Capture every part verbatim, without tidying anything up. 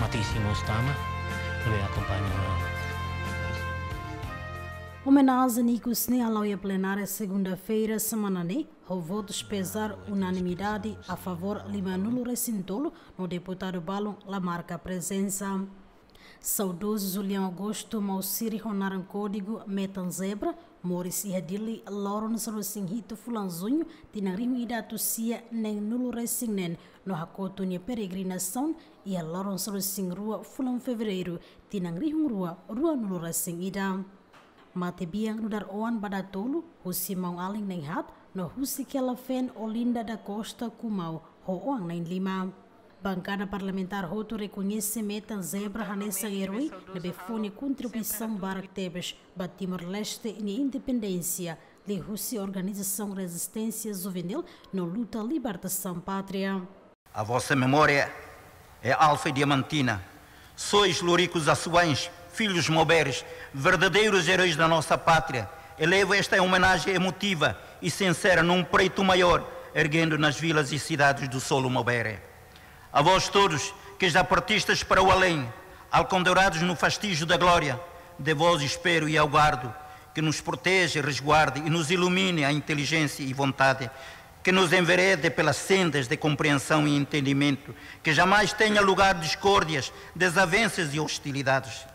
Matísimo Stama, ne'ebé akompaña. Omenajen ikus ne'e hala'o iha plenária segunda-feira semana ne'e, ho votus pezar unanimidade a favór lima-nulu resin tolu, no deputadu balun la marka prezensa. Saudozu Julião Augusto, maun sira ho naran kódigu Metan Zebra, moris iha Dili loron sanulu-resin-hitu fulan Juñu, tinan rihun ida atus sia neen-nulu resin-neen, no hakotu nia peregrinasaun iha loron sanulu-resin-rua fulan Fevereiru, tinan rihun rua rua-nulu resin-ida. Matebian nu'udar oan ba datolu, husi maun-alin na'in-haat, no husi kela-feen Olinda da Costa Kumau, ho oan na'in-lima. Bankada parlamentár hotu rekoñese Metan Zebra hanesan erói ne'ebé fó nia kontribuisaun barak tebes ba Timor-Leste nia independénsia, liuhusi organizasaun rezisténsia juvenil no luta libertasaun pátria. A vossa memória é alfa e diamantina. Sois luricos açuães, filhos mauberes, verdadeiros heróis da nossa pátria. Elevo esta homenagem emotiva e sincera num preito maior, erguendo nas vilas e cidades do solo maubere. A vós todos, que já partistes para o além, alcandorados no fastígio da glória, de vós espero e aguardo que nos proteja, resguarde e nos ilumine a inteligência e vontade, que nos enverede pelas sendas de compreensão e entendimento, que jamais tenha lugar discórdias, desavenças e hostilidades.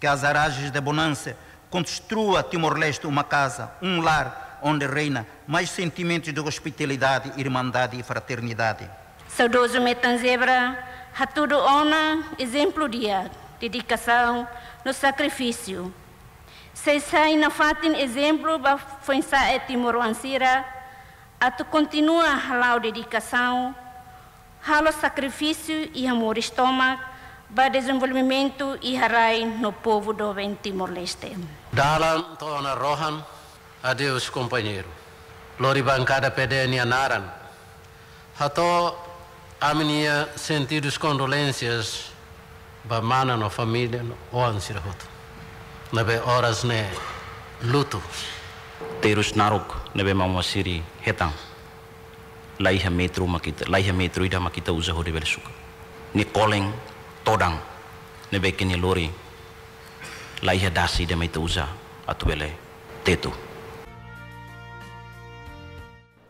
Que as arrajes da bonança construa Timor-Leste uma casa, um lar, onde reina mais sentimentos de hospitalidade, irmandade e fraternidade. Saudozu Metan Zebra hatudu ona ezemplu di'ak, dedikasaun no sakrifísiu. Sei sai nafatin ezemplu ba foin-sa'e timoroan sira atu kontinua hala'o dedikasaun, halo sakrifísiu iha moris tomak ba dezenvolvimentu iha rai no povu doben Timor-Leste. Dalan to'o ona rohan, adeus kompañeiru. Lori bankada P D nia naran, hato'o ami-nia sentidos condolências ba mana no família no oan sira hotu ne'ebé oras ne'e lutu. Terus naruk ne'ebé maun-alin sira hetan, la iha metru mak ita, la iha metru ida mak ita uza hodi bele sukat. Nia kolen todan ne'ebé ke nia lori, la iha dasi ida mak ita uza atu bele tetu.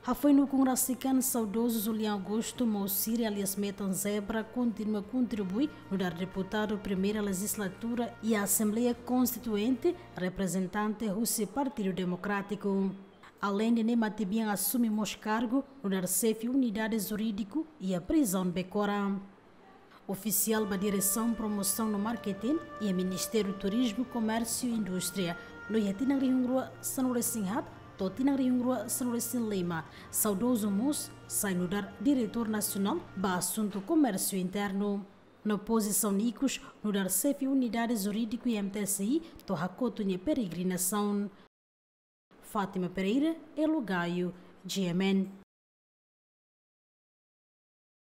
Hafoin ukun rasik an, saudozu Julião Augusto, maun sira alias Metan Zebra, kontinua kontribui nu'udar deputadu primeira lejizlatura iha Asembleia Konstituinte, reprezentante husi Partidu Demokrátiku. Aleinde ne'e, matebian asume mós kargu nu'udar xefe unidade jurídiku iha prizaun Becora. Ofisiál ba Diresaun Promosaun no Marketing iha Ministériu Turizmu, Komérsiu i Indústria, no iha tinan rihun rua sanulu-resin-haat to'o tinan rihun rua sanulu-resin-lima, saudozu mós sai nu'udar diretór nasionál ba asuntu komérsiu internu. No pozisaun ikus nu'udar xefe unidade jurídiku iha M T S I to'o hakotu nia peregrinasaun. Fátima Pereira, Elo Gaio, G M N.